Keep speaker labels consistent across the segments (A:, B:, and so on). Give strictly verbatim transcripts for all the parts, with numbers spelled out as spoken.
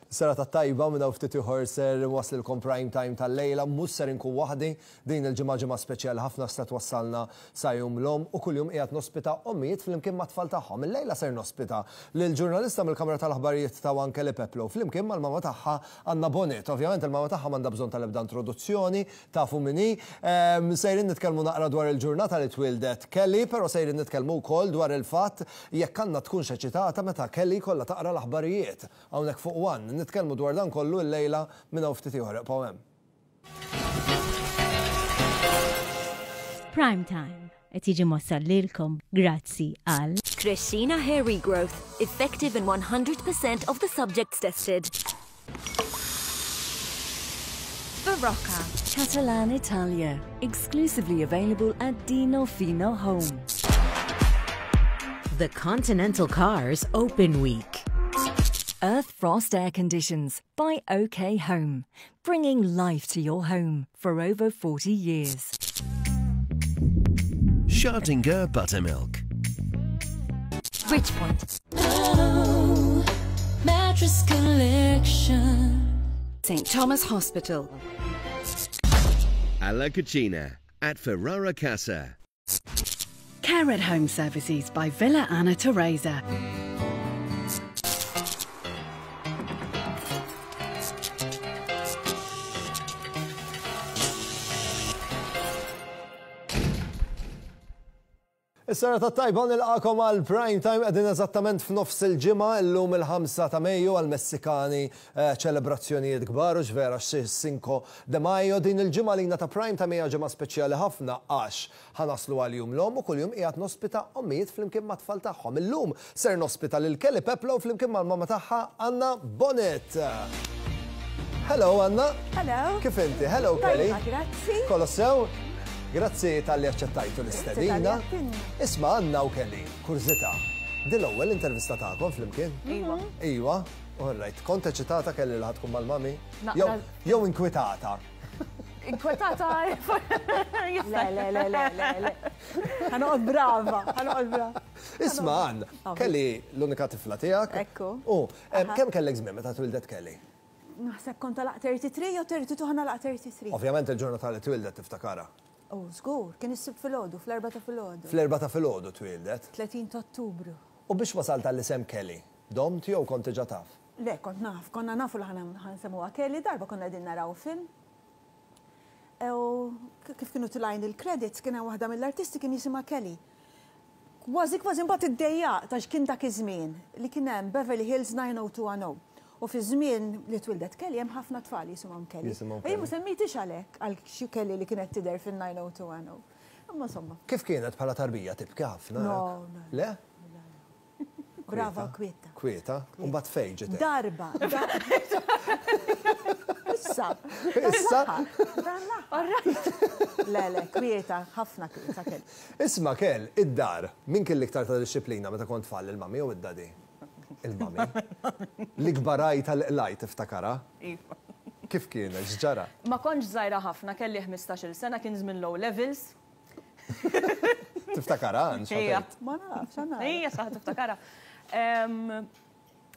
A: Serata tajba. Minn ftit ieħor ser waslilkom Prime Time tal-lejla, mhux ser inkun waħdi din il-ġimgħa, ġimgħa speċjali ħafna se twassalna sa Jum l-Omm u kuljum qiegħed nospita ommijiet flimkien mat-tfal tagħhom. Il-lejla ser nospita lill-ġurnalista mill-Kamra tal-Aħbarijiet ta' One, Kelly Peplow, flimkien mal-mama tagħha Anna Bonett. Ovvjament il-mama tagħha m'għandha bżonn tal-ebda introduzzjoni, tafu min hi. Ehm, sejrin nitkellmu naqra dwar il-ġurnata li twildet Kelly, però sejrin nitkellmu wkoll dwar il-fatt jekk għandna tkunx eċitata meta Kelly kollha taqra l-aħbarijiet hawnhekk fuq One. Nitkellmu dwar dan kollu l-lejla minn hawn ftit ieħor. Ibqgħu hemm.
B: Prime Time qed jiġi mwassal lilkom grazzi għal
C: Crescina Hair Regrowth, effective in one hundred percent of the subjects tested.
D: Barocca.
C: Catalan Italia, exclusively available at Dino Fino Home.
E: The Continental Cars Open Week.
C: Earth Frost Air Conditions by OK Home, bringing life to your home for over forty years.
F: Schartinger Buttermilk.
C: Richpoint.
G: Mattress Collection.
D: Saint Thomas Hospital.
F: Alla Cucina at Ferrara Casa.
D: Care at Home Services by Villa Anna Teresa.
A: Is-serata tajba, nilqagħkom għal Prime Time. Qegħdin eżattament f'nofs il-ġimgħa, illum il-ħamsa ta' Mejju, għal Messikani eh, ċelebrazzjonijiet kbar u vera Cinco de Mayo. Din il-ġimgħa lina ta' Prime Time hija ġimgħa speċjali ħafna għax ħa naslu għal Jum l-Omm u kuljum qiegħed nospita ommijiet flimkien mat-tfal tagħhom. Illum ser nospita lil Kelly Peplow flimkien mal-mama tagħha Anna Bonett. Hello, Anna.
H: Hello.
A: Kif inti? Hello, Kelly.
H: Tajba, grazzi.
A: Kollox sew? Grazzi talli aċċettajtu l-istedina. Isma', Anna u Kelly, kurżità. Din l-ewwel intervista tagħkom flimkien?
H: Iva.
A: Iva, all right. Kont eċitata, Kelly, li ħa tkun mal-mami?
H: Naqra.
A: Jew inkwitata?
H: Inkwetata. Le, le, le, le, le, le. Ħa noqgħod brava, ħa noqgħod brava.
A: Isma', Anna, Kelly l-unika tifla tiegħek.
H: Ekku.
A: U em, kemm kellek żmien meta twildet Kelly?
H: Naħseb kont għalaqt tlieta u tletin jew tlieta u tletin, ħa nagħlaq tlieta u tletin.
A: Ovvjament il-ġurnata li twildet tiftakara.
H: Oh, żgur, kien is-Sibt filgħodu, fl-erbgħa ta' filgħodu.
A: Fl-erbgħa ta' filgħodu twildet.
H: tletin ta' Ottubru.
A: U biex wasalt għall-isem Kelly, domt jew kont diġà taf?
H: Le, kont naf, konna nafu li ħa nsemmuha Kelly. Darba konna qegħdin naraw film. U kif kienu telgħin il-credits, kien hemm waħda mill-artisti kien jisimha Kelly. Kważi kważi mbagħad iddejjaq għax kien dak iż-żmien li kien hemm Beverly Hills nine oh two one oh. U fi żmien li twildet Kelly hemm ħafna tfal jisimhom Kelly.
A: Jisimhom
H: U jien ma
A: Kelly.
H: semmejtix għalhekk għal xi Kelly li kienet tidher fin-nine oh two one oh. Imma insomma,
A: Kif kienet bħala tarbija, tibki ħafna?
H: No,
A: hekk?
H: no.
A: Le?
H: Brava, kwieta.
A: Kwieta? U mbagħad fejn ġiet?
H: Darba. da- Issa.
A: Issa?
H: Dan l-aħħar. Le, le, kwieta, ħafna kwieta Kelly.
A: Isma', Kel, id-dar, min kien l-iktar ta' dixxiplina meta kont tfal, il-mami jew id-daddy? Il-mami. L-ikbar għajta li qlajt tiftakarha?
I: Iva.
A: Kif kienet, x'ġara?
I: Ma kontx żgħira ħafna, kelli ħmistax-il sena, kien żmien low levels.
A: Tiftakarha, Ann,
I: Ija.
A: x'għedt?
H: Ma nafx, għana.
I: Ija, saħ tiftakarha. Em,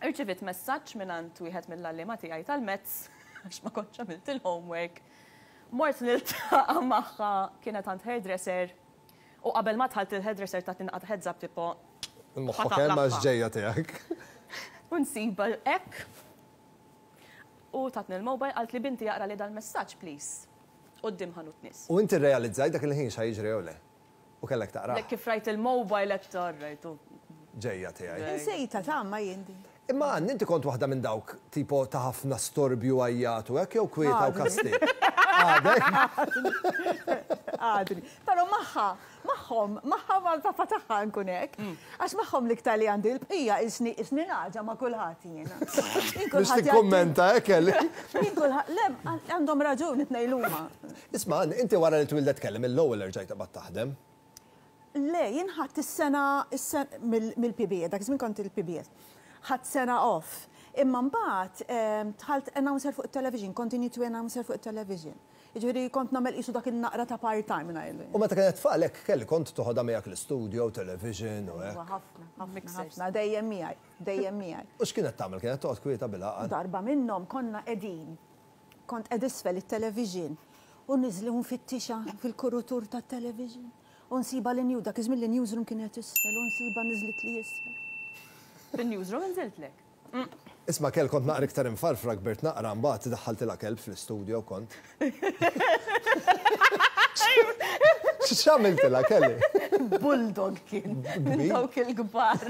I: Irċivit messaġġ minn għand wieħed mill-għalliema tiegħi tal-maths għax ma kontx għamilt il-homework. Mort niltaqa' magħha, kienet għand hairdresser u qabel ma dħalt il-hairdresser ta' tinqat heads up tipo
A: Moħħok hemm għax ġejja tiegħek.
I: U nsiba hekk. U tatni l-mobile, qaltli: "Binti, aqra li dal-messaġġ, please." Quddiem ħanut nies.
A: U inti realizzajt dak il-ħin x'ħa jiġri jew le? U kellek taqra?
I: Lek, kif rajt il-mobile qed rajtu.
A: Ġejja tiegħi.
H: Insejta ta' ma jindi.
A: Imma Ann, inti kont waħda minn dawk tipo ta' ħafna storbju, għajjat u hekk, jew kwieta u
H: Għadni.
A: kastig? Għadek?
H: Għadni. Però magħha, magħhom, magħha mal-papa tagħha nkun hekk. Għax magħhom l-iktar li għandi, l-bqija isni isni naġa ma' kulħadd jiena. Jien
A: Biex
H: kulħadd jgħaddi-
A: tikkummenta hekk, Kelly.
H: Jien kulħadd, le, għandhom raġun it-tnejn huma.
A: Isma', Ann, inti wara li twildet Kelly mill-ewwel erġajt taqbad taħdem?
H: Le, jien ħadt is-sena is-sena mill-P B S, dak iż-żmien kont il-P B S. Ħadt sena off. Imma mbagħad em, dħalt announcer fuq it-television, continuity announcer fuq it-television. Jiġifieri kont nagħmel qisu dak in-naqra ta' part-time ngħidlu.
A: U meta kienet tfal hekk, Kelly, kont toħodha miegħek l-istudio, television u hekk?
H: Ħafna, ħafna, ħafna, dejjem miegħi, dejjem miegħi.
A: U x'kienet tagħmel? Kienet toqgħod kwieta bil-għaqal?
H: Darba minnhom konna qegħdin, kont qed isfel it-television u niżli nfittixha fil-kurutur tat-television. U nsiba l-news, dak iż-żmien l-newsroom kienet isfel, u nsiba niżlit li isfel.
I: Fin-newsroom inżiltlek.
A: Isma' Kel, kont naqra iktar imfarfra, kbirt naqra, mbagħad daħħaltilha kelb fl-istudio kont. X'għamiltilha, Kelly?
I: Bulldog kien, minn dawk il-kbar.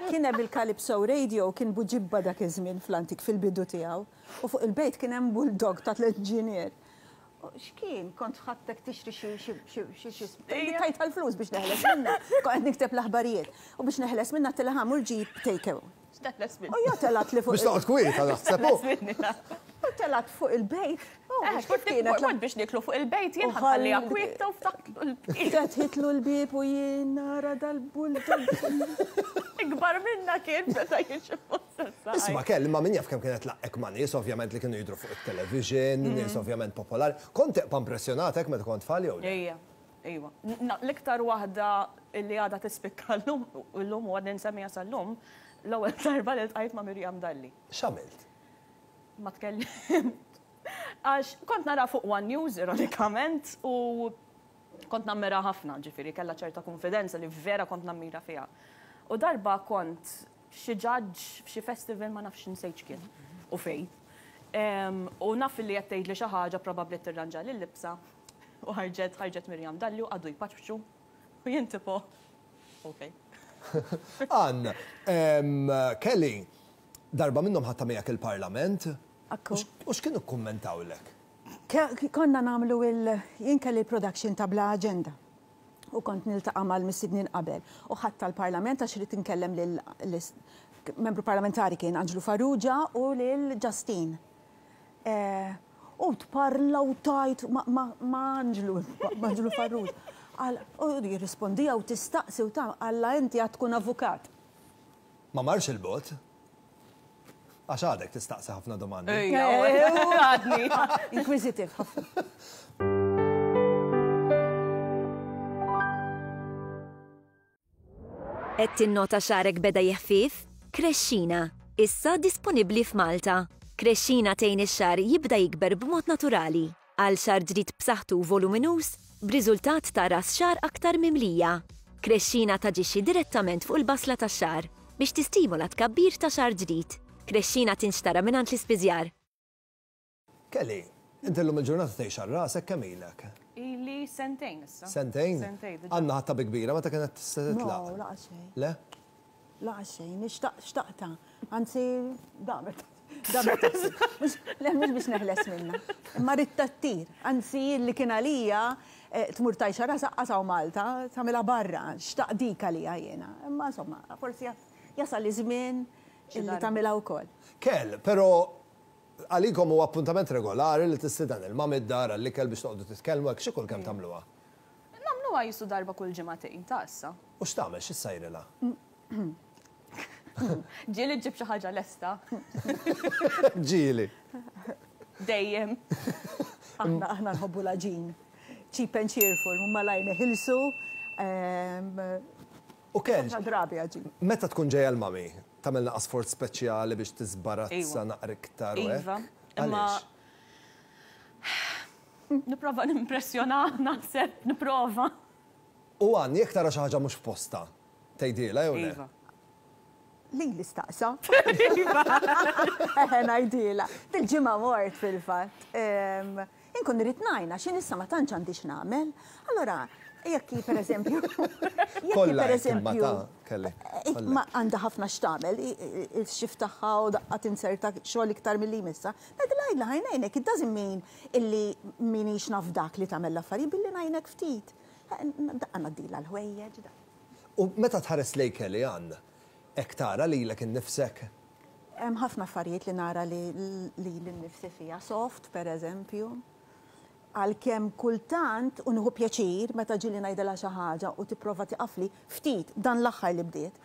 H: Kien hemm il-Calypso Radio, kien buġibba dak iż-żmien fl-antik fil-bidu tiegħu, u fuq il-bejt kien hemm bulldog ta' tliet ġinier. X'kien, kont ħadtek tixtri xi xi xi xi xi tajt tal-flus biex neħles minna. Kont qed nikteb l-aħbarijiet. U biex neħles minna tilha mur ġib take away.
I: X'teħles minna?
H: U ja telat li fuq.
A: Biex toqgħod kwieta naħseb.
H: U telat fuq il-bejt.
I: Kif kienet? Mort biex niklu fuq il-bejt, jien ħalliha kwieta u ftaħtlu l-bieb.
H: Fetħitlu l-bieb u jien nara dal-bulldog.
I: Ikbar minna kien meta jiġi fuq.
A: Isma' Kelly, ma min jaf kemm kienet laqek ma' nies ovvjament li kienu jidhru fuq it-television, nies ovvjament popolari. Kont teqpa' impressjonatek meta kont tfal jew le?
I: Ejja, ejwa. L-iktar waħda li għadha tispikka llum, llum u għadni nsemmiha sal-lum, l-ewwel darba li ltqajt ma' Miriam Dalli.
A: X'għamilt?
I: Ma tkellimt. Għax kont nara fuq One News, ironikament, u kont nammira ħafna, ġifieri, kellha ċerta konfidenza li vera kont nammira fiha. U darba kont xi ġaġġ f'xi festival, ma nafx nsejt x'kien u fej. U naf li qed tgħidli xi ħaġa probabbli tirranġa lil libsa u ħarġet ħarġet Miriam Dalli u qagħdu jpaċċu u jien tipo okej.
A: Ann, Kelly, darba minnhom ħadtha miegħek il-Parlament.
H: Akku.
A: U x'kienu kkummentawlek?
H: Konna nagħmlu il jien kelli l-production ta' Bla Agenda. U kont niltaqa' mal-mistednin qabel. U ħadd tal-Parlament għax irid inkellem lil membru parlamentari kien Anġlu Farrugia u lil Justine. U tparla u tajt ma' Anġlu, ma' Anġlu Farrugia. U jirrispondija u tistaqsi u ta' għalla inti għad tkun avukat.
A: Ma marx il-bot? Għax għadek tistaqsi ħafna domandi.
I: Ejja, għadni.
H: Inquisitive ħafna.
C: Qed tinnota xagħrek beda jeħfif? Krexxina, issa disponibbli f'Malta. Krexxina tgħin ix-xagħar jibda jikber b'mod naturali. Għal xagħar ġdid b'saħħtu u voluminuż, b'riżultat ta' ras xagħar aktar mimlija. Krexxina taġixxi direttament fuq il-basla tax-xagħar biex tistimola tkabbir ta' xagħar ġdid. Krexxina tinxtara mingħand l-ispiżjar.
A: Kelly, inti llum il-ġurnata tgħix għal rasek kemm ilek?
I: Ili sentejn issa.
A: Sentejn?
I: Sentejn, diġà.
A: Għandna ħatta bi kbira meta kienet tista' titlaq?
H: No, laqa xejn.
A: Le?
H: Laqa xejn, nixtaq xtaqta. Anzi, damet. Damet. Le, mhux biex neħles minna. Imma rrid tattir. Anzi, li kien għalija tmur tajxa rasa qasaw Malta, tagħmilha barra, xtaq dik għalija jiena. Imma insomma, forsi jasal iż-żmien illi tagħmilha wkoll.
A: Kell, però għalikom huwa appuntament regolari li tistieden il-mami d-dar għall-ikel biex toqgħodu titkellmu hekk xi kull kemm tagħmluha?
I: Nagħmluha jisu darba kull ġimagħtejn ta' issa.
A: U x'tagħmel, x'issajrilha?
I: Ġieli ġib xi ħaġa lesta.
A: Ġieli.
I: Dejjem.
H: Aħna aħna nħobbu l-għaġin. Cheap and cheerful, huma lajn ħilsu.
A: U Kell,
H: Drabi għaġin.
A: Meta tkun ġejja l-mami, tagħmel naqas sforz speċjali biex tiżbarazza naqra iktar u hekk?
I: Iva, imma nipprova nimpressjona, naħseb, nipprova.
A: U Għan, jekk tara xi ħaġa mhux f'posta, tgħidilha jew le?
I: Iva.
H: Lili staqsa. Eħe, ngħidilha. Dil-ġimgħa mort fil-fatt. Inkun irrid ngħinha, x'in issa ma tantx għandi x'nagħmel. Allora, jekk hi pereżempju, jekk hi
A: Kollha hekk
H: pereżempju,
A: imma ta' Kelly, kollha.
H: Ma għandha ħafna x'tagħmel, il-xift tagħha u daqqa tinserta xogħol iktar milli jmissha. Ngħidilha għidla ħajnejnek, it doesn't mean illi minix naf dak li tagħmel l-affarijiet billi ngħinek ftit. Daqqa ngħaddilha l-ħwejjeġ.
A: U meta tħares lejn Kelly Ann, hekk tara lilek innifsek?
H: Hemm ħafna affarijiet li nara li lili nnifsi fiha, soft pereżempju. Għalkemm kultant u nieħu pjaċir meta ġieli ngħidilha xi ħaġa u tipprova tiqafli ftit dan l-aħħar li bdiet.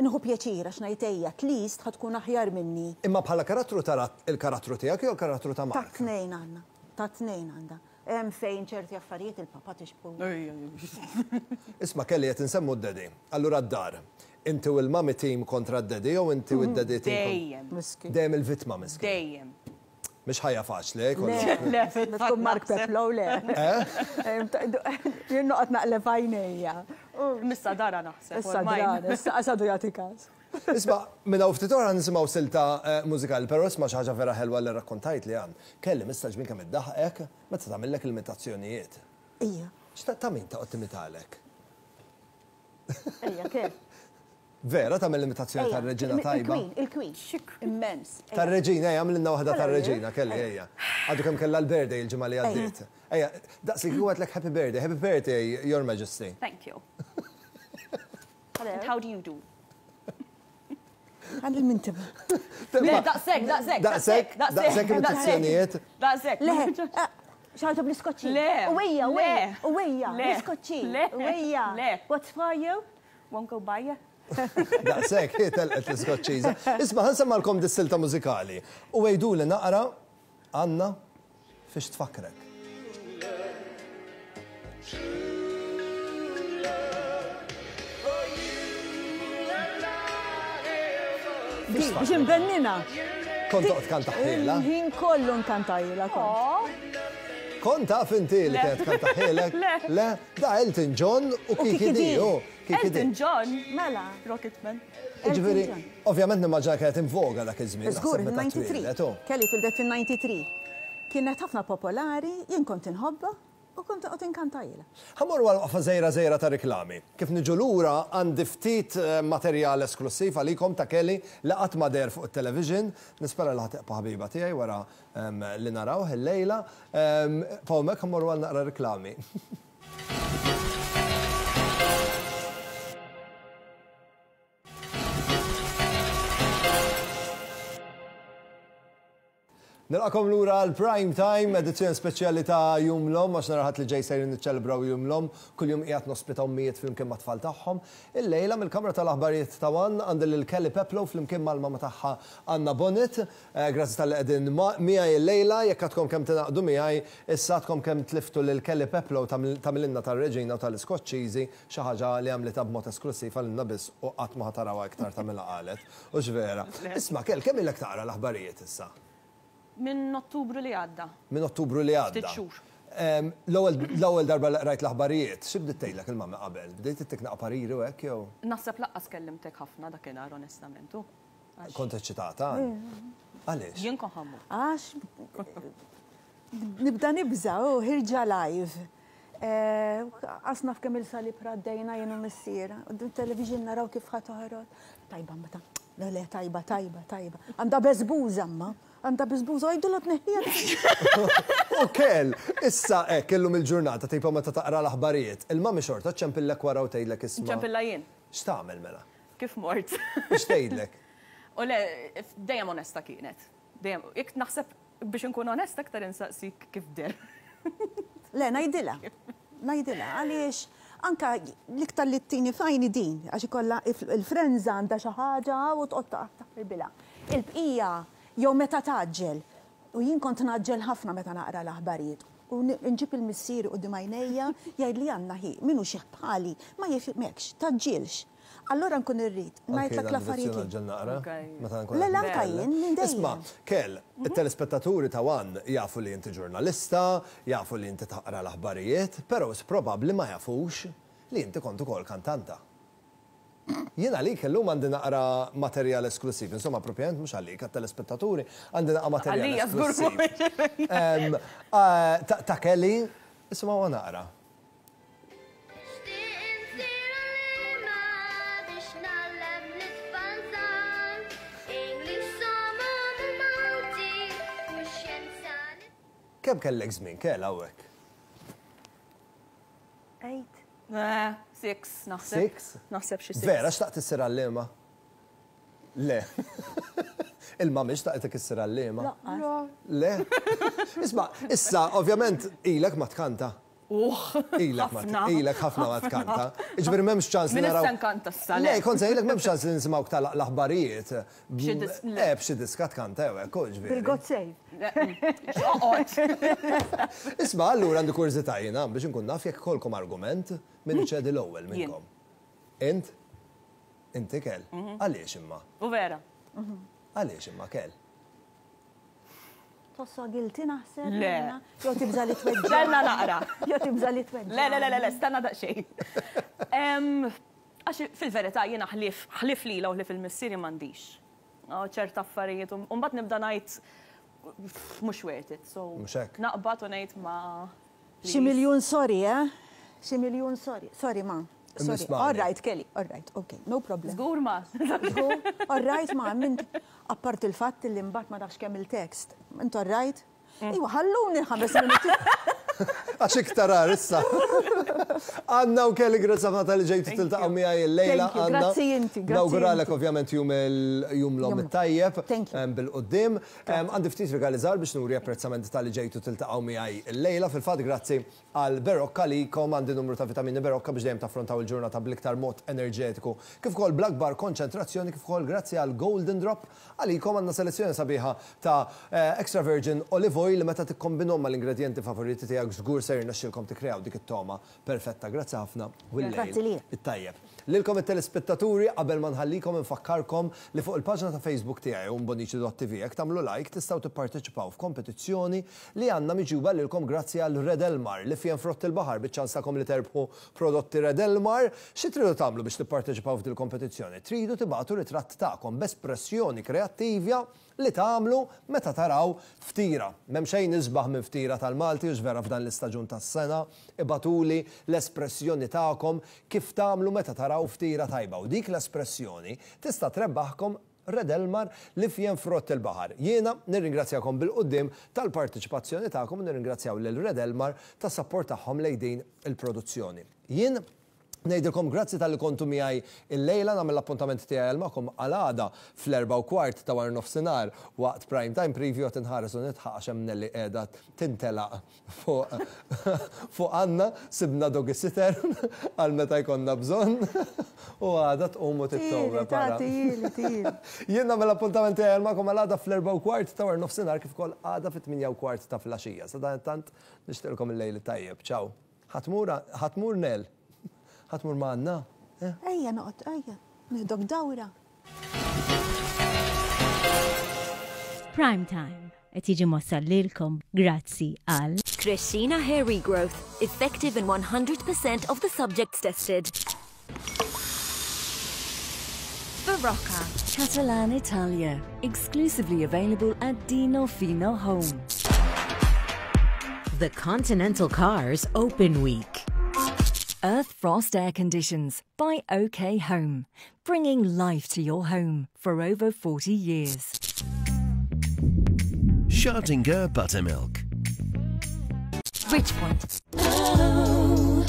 H: Nieħu pjaċir għax ngħid ejja, at least ħa tkun aħjar minni.
A: Imma bħala karattru tara il-karattru tiegħek jew il-karattru ta' Mark?
H: Ta' tnejn għandna, Ta' tnejn għandha. Hemm fejn ċerti affarijiet il-papa tixbhu.
A: Isma' Kelly qed insemmu d-daddy. Allura d-dar. Inti u l-mami team kontra d-daddy jew inti u d-daddy team?
I: Dejjem.
H: Miskin.
A: Dejjem il-vittma miskin.
I: Dejjem.
A: Mhix ħajja faċli, eh,
H: Le,
I: Le,
H: tkun Mark Peplow, le. Jien noqgħod naqleb għajnejja.
I: Missa dara naħseb.
H: Issa dara, issa qasadu jagħti każ.
A: Isma', minn hawn ftit oħra nisimgħu silta mużikali, però isma' xi ħaġa vera ħelwa li rrakkontajt li għan. Kelly mistagħġbin kemm iddaħqek meta tagħmillek l-imitazzjonijiet.
H: Ija.
A: X'ta' ta' min toqgħod timitalek?
H: Ija, kif?
A: Vera tagħmel l-imitazzjoni tar-reġina tajba?
H: Il-Queen, il-Queen. Immens.
A: Tar-reġina, ejja, għamlilna waħda tar-reġina, Kelly, ejja. Għadu kemm kellha l-birthday il-ġimgħa li għaddiet. Ejja, daqs li kieku għedtlek happy birthday, happy birthday, Your Majesty.
I: Thank you. And how do you do?
H: Għand il-mintiba.
I: Le, daqsek, daqsek,
A: Daqsek, daqsek imitazzjonijiet.
I: Daqsek.
H: Le, xaħġa bl-iskoċċi.
I: Le.
H: Uwejja, uwejja, uwejja,
I: Le.
H: bl-iskoċċi.
I: Le.
H: Uwejja.
I: Le.
H: What's for you?
I: Won't go by you.
A: Daqsek, hi telqet l-iskoċċiża. Isma' ħa nsemmalkom dis-silta mużikali. U għiduli naqra, Anna, fiex tfakkrek.
H: Biex imbennina.
A: Kont toqgħod kantaħħiela?
H: Il-ħin kollu nkantajla kont.
A: Kont taf inti li kienet kantaħħielek?
I: Le.
A: Le, da Elton John u Kiki
H: Kiki
A: Dee.
H: Dee.
A: oh, Kiki Dee.
I: Elton John.
H: Mela.
I: Rocketman.
A: Ġifieri,
H: Elton John.
A: ovvjament nimmaġina kienet in voga dak iż-żmien.
H: Żgur,
A: naħseb meta
H: il-ninety-three.
A: twieldet, oh.
H: Kelly tildet fil-ninety-three. Kienet ħafna popolari, jien kont inħobba u kont qed inkantajla.
A: Ħa mmorru għal waqfa żgħira żgħira ta' riklami. Kif niġu lura għandi ftit, eh, materjal esklusiv għalikom ta' Kelly li qatt ma deher fuq it-television. Nispera li ħa tibqa' ħabiba tiegħi wara, ehm, li naraw il-lejla. Ehm, Fawmek ħa mmorru għal naqra riklami. Nilqakom lura għal Prime Time, edizzjoni speċjali ta' Jum l-Omm, għax nhar il-Ħadd li ġej sejrin niċċelebraw Jum l-Omm, kuljum qiegħed nospita ommijiet flimkien mat-tfal tagħhom. Illejla mill-Kamra tal-Aħbarijiet ta' One għandi lil Kelly Peplow flimkien mal-mama tagħha Anna Bonnet. Eh, grazzi tal-li qegħdin ma-, miegħi illejla, jekk għadkom kemm tingħaqdu miegħi, issa għadkom kemm tliftu lil Kelly Peplow tagħmilna tar-Reġina u tal-Iskoċċiżi, xi ħaġa li għamlitha b'mod esklusiv għalina biss u qatt ma ħatarawha iktar tagħmilha qalet. U x'vera. Isma' Kell, kemm ilek taqra l-aħbarijiet issa?
I: Minn Ottubru li għadda.
A: Minn Ottubru li għadda.
I: Ftit xhur.
A: Em, l-ewwel, l-ewwel darba li qrajt l-aħbarijiet, xi bdiet tgħidlek il-mamma qabel? Bdejt ittik naqa' pariri u hekk jew?
I: Naħseb laqqas kellimtek ħafna dakinhar onestament. u. Għax
A: Kont eċċitata? Għaliex?
I: Jien kont ħammu.
H: Għax nibda nibża' u ħirġa live. Eh, Qasna f'kemm il-salib raddejna jien u missiera. U din television naraw kif ħa toħroġ. Tajba meta. Le, le, tajba, tajba, tajba. Għandha beżbuża ma. Għandha beżbuża, għajdu la tneħħija.
A: U Kell, issa hekk illum il-ġurnata tipo meta taqra l-aħbarijiet, il-mami xorta ċempillek wara u tgħidlek isma'.
I: Ċempilla jien.
A: X'tagħmel mela?
I: Kif mort?
A: X'tgħidlek?
I: U le, dejjem onesta kienet. Dejjem, jekk naħseb biex inkun onesta aktar insaqsik kif der.
H: Le, ngħidilha. Ngħidilha, għaliex anka l-iktar li t-tini fajni din, għax ikollha il-frenza għandha xi ħaġa u toqgħod taħbilha. Il-bqija jew meta taġġel, u jien kont naġġel ħafna meta naqra l-aħbarijiet. U nġib il-missier quddiem għajnejja jgħid li għandna ħi, minnu xi bħali, ma jifhimekx, taġġilx. Allora nkun irrid,
A: Anke
H: ngħidlek
A: dan
H: l-affarijiet
A: direzzjoni
H: li-
A: ġen naqra,
I: Ok.
A: meta nkun
H: Le,
A: qed
H: le, anka
A: nitkellem.
H: jien, minn dejjem.
A: Isma', Kell, it-telespettaturi ta' One jafu li inti ġurnalista, jafu li inti taqra l-aħbarijiet, però probabbli ma jafux li inti kont ukoll kantanta. Jien għalik illum għandi naqra materjal esklusiv, insomma, propjament mhux għalik, għat-telespettaturi, għandi naqra materjal
I: Għalija żgur
A: esklusiv.
I: mhux.
A: Em, eh, ta-, ta' Kelly, isma' wa naqra. Kemm kellek żmien, Kell, hawnhekk?
H: Eight.
I: Eh, six, naħseb.
A: Six?
I: Naħseb xi six.
A: Vera, xtaqt issir għalliema? Le. Il-mami xtaqtek issir għalliema?
H: Laqqas.
A: Le. Isma', issa, ovvjament, ilek ma tkanta.
I: Uħ,
A: Ilek ma ilek ħafna ma tkanta. Ġifieri m'hemmx ċans li
I: Min
A: naraw.
I: issa nkanta issa,
A: Le,
I: le.
A: kont se ngħidlek m'hemmx ċans li nisimgħu tal l-aħbarijiet.
I: B'xi dis- le.
A: Eh, b'xi diska tkanta jew hekk, ġifieri.
H: Bil-God save.
I: Oqgħod.
A: Isma' allura għandi kurżità jiena biex inkun naf jekk ikollkom argument min iċedi l-ewwel minnkom. Int? Inti Kel. Għaliex imma?
I: U vera.
A: Għaliex imma Kel?
H: Tħossha guilty naħseb?
I: Le.
H: jiena? Jew tibża li tweġġa.
I: Stenna naqra.
H: Jew tibża li tweġġa.
I: Le, le, le, le, le, stenna daqsxejn. Em, Għax fil-verità jiena ħlief ħlief lila u ħlief il-missieri m'għandix. Oh, ċerta affarijiet, u mbagħad nibda ngħid mhux worth it. So
A: Mhux hekk.
I: naqbad u ngħid ma.
H: Xi miljun sorry, eh? Xi miljun sorry. Sorry, ma. Sorry.
A: Nismani.
H: All right, Kelly. All right, okay, no problem.
I: Żgur ma.
H: Żgur, all right, ma, mint apart il-fatt li mbagħad ma nafx kemm il-text. Int all right? Iwa, ħalluni ħames minuti.
A: Għax iktar għar issa. Anna u Kelly, grazzi ħafna talli ġejtu tiltaqgħu miegħi il-lejla.
H: Thank you,
A: Anna.
H: grazzi inti, grazzi
A: Nawguralek
H: inti.
A: ovvjament jum il-jum l-omm
H: Jum.
A: it-tajjeb.
H: Thank you.
A: em, Bil-quddiem. Em, Għandi ftit rigali żgħar biex nuri apprezzament talli ġejtu tiltaqgħu miegħi il-lejla. Fil-fatt grazzi għal Berocca li kom għandi numru ta' vitamini Berocca biex dejjem taffrontaw il-ġurnata bl-iktar mod enerġetiku. Kif ukoll bl-akbar konċentrazzjoni, kif ukoll grazzi għal Golden Drop għalikom għandna selezzjoni sabiħa ta' eh, extra virgin olive oil li meta tikkombinhom mal-ingredienti favoriti tiegħek żgur se jirnexxilkom tikkreaw dik it-toma perfetta. Grazzi ħafna u
H: Grazzi
A: l-lejl
H: lilek.
A: it-tajjeb. Lilkom it-telespettaturi qabel ma nħallikom infakkarkom li fuq il-paġna ta' Facebook tiegħi owenbonnici dot T V jekk tagħmlu like tistgħu tipparteċipaw f'kompetizzjoni li għandna miġjuba lilkom grazzi għal Red Elmar li fjen frott il-baħar biċ-ċans tagħkom li terbħu prodotti Red Elmar. Xi tridu tagħmlu biex tipparteċipaw f'dil kompetizzjoni? Tridu tibagħtu ritratt tagħkom b'espressjoni kreattiva li tagħmlu meta taraw ftira. M'hemm xejn isbaħ minn ftira tal-Malti u vera f'dan l-istaġun tas-sena, ibagħtuli l-espressjoni tagħkom kif tagħmlu meta taraw ftira tajba. U dik l-espressjoni tista' trebbaħkom Red Elmar li fjen frott il-baħar. Jiena nirringrazzjakom bil-quddiem tal-partiċipazzjoni tagħkom u nirringrazzjaw lil Red Elmar tas-sapport tagħhom lejn din il-produzzjoni. Jien ngħidilkom grazzi talli kontu miegħi il-lejla, nagħmel l-appuntament tiegħi magħkom għal għada fl-erba' u kwart ta' wara nofsinhar waqt Prime Time Preview. Qed inħares u nidħaq għax hemm Nelly qiegħda tintelaq fuq fuq Anna, sibna doggy sitter għal meta jkollna bżonn u għada tqum u tittowwe para.
H: Tili, tili.
A: Jien nagħmel l-appuntament tiegħi magħkom għal għada fl-erba' u kwart ta' wara nofsinhar kif ukoll għada fit-tmienja u kwart ta' filgħaxija. Sadanittant nixtieqilkom il-lejl tajjeb. Ciao. Ħa tmur ħa tmur Nel. Ħa tmur ma' Anna. Eh?
H: Ejja, noqgħod, ejja. Nieħdok dawra.
B: Prime Time qed jiġi mwassal lilkom grazzi għal
C: Crescina Hair Regrowth, effective in one hundred percent of the subjects tested.
G: Barocca. Catalan Italia. Exclusively available at Dino Fino Home.
E: The Continental Cars Open Week.
G: Earth Frost Air Conditions by O K Home. Bringing life to your home for over forty years.
F: Schartinger Buttermilk.
C: Bridgepoint.
G: Oh,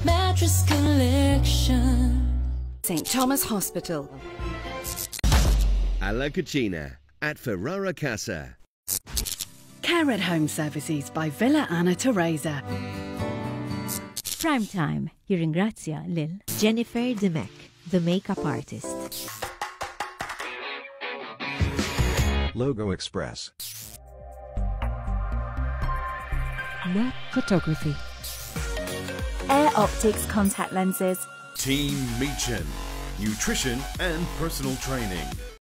G: mattress collection.
D: Saint Thomas Hospital.
F: Alla Cucina at Ferrara Casa.
D: Care at Home Services by Villa Anna Teresa.
B: Prime Time jirringrazzja lil Jennifer Dimech, the makeup artist.
J: Logo Express.
G: Net Photography.
C: Air Optics Contact Lenses.
K: Team Meechan, nutrition and personal training.